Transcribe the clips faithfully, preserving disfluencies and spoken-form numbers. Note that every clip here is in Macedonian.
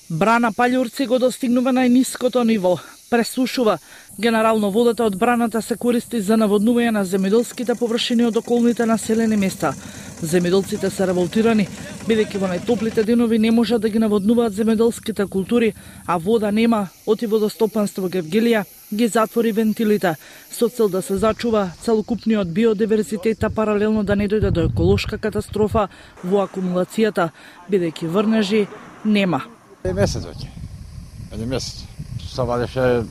Брана Паљурци го достигнува најниското ниво. Пресушува. Генерално водата од браната се користи за наводнување на земјоделските површини од околните населени места. Земјоделците се револтирани, бидејќи во најтоплите денови не можат да ги наводнуваат земјоделските култури, а вода нема, оти водостопанство Гевгелија ги затвори вентилите, со цел да се зачува целокупниот биодиверзитет, а паралелно да не дојде до еколошка катастрофа во акумулацијата, бидејќи врнежи нема. Еден месец веќе. Еден месец. Се вадеше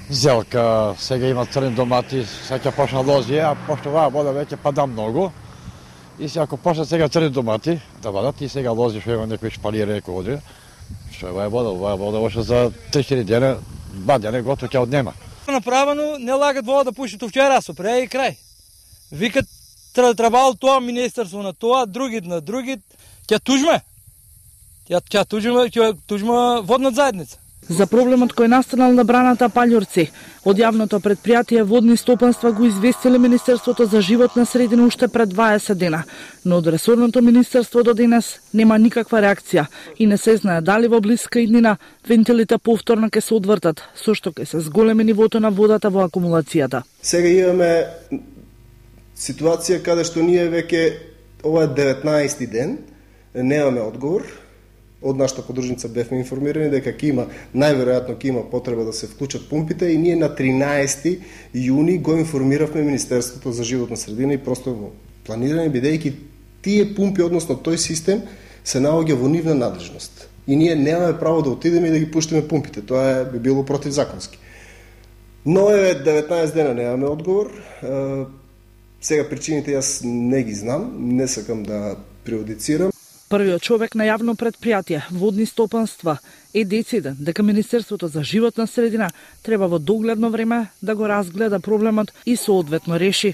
зелка, сега има црни домати, сега ќе почна лози, а пошто оваа вода веќе пада многу. И се ако почнат сега црни домати да вадат и сега лози што има некои шпалири еко води, што оваа вода, оваа вода още за три-четири дена, два дена готово ќе однема. Направено не лагат вода да пуши вчера со пре и крај. Викат требало тоа министерство на тоа, другит на другит, ќе тужме. Ја ќе тужиме, ќе тужиме водна заедница. За проблемот кој настанал на браната Паљурци, од јавното предпријатие Водни стопанства го известиле Министерството за животна средина уште пред дваесет дена, но од ресорното министерство до денес нема никаква реакција и не се знае дали во блиска иднина вентилите повторно ќе се одвртат, со што ќе се зголеми нивото на водата во акумулацијата. Сега имаме ситуација каде што ние веќе ова е деветнаесети ден, немаме одговор. Од нашата подружница бевме информирани дека ќе има, најверојатно ќе има потреба да се вклучат пумпите и ние на тринаесети јуни го информиравме Министерството за животна средина и просторно планирање, бидејќи тие пумпи, односно тој систем, се наоѓа во нивна надлежност. И ние немаме право да отидеме и да ги пуштиме пумпите. Тоа е, би било противзаконски. Но е деветнаесет дена немаме одговор. Сега причините јас не ги знам, не сакам да преодицирам. Првиот човек на јавно предпријатие Водни стопанства е дециден дека Министерството за животна средина треба во догледно време да го разгледа проблемот и соодветно реши.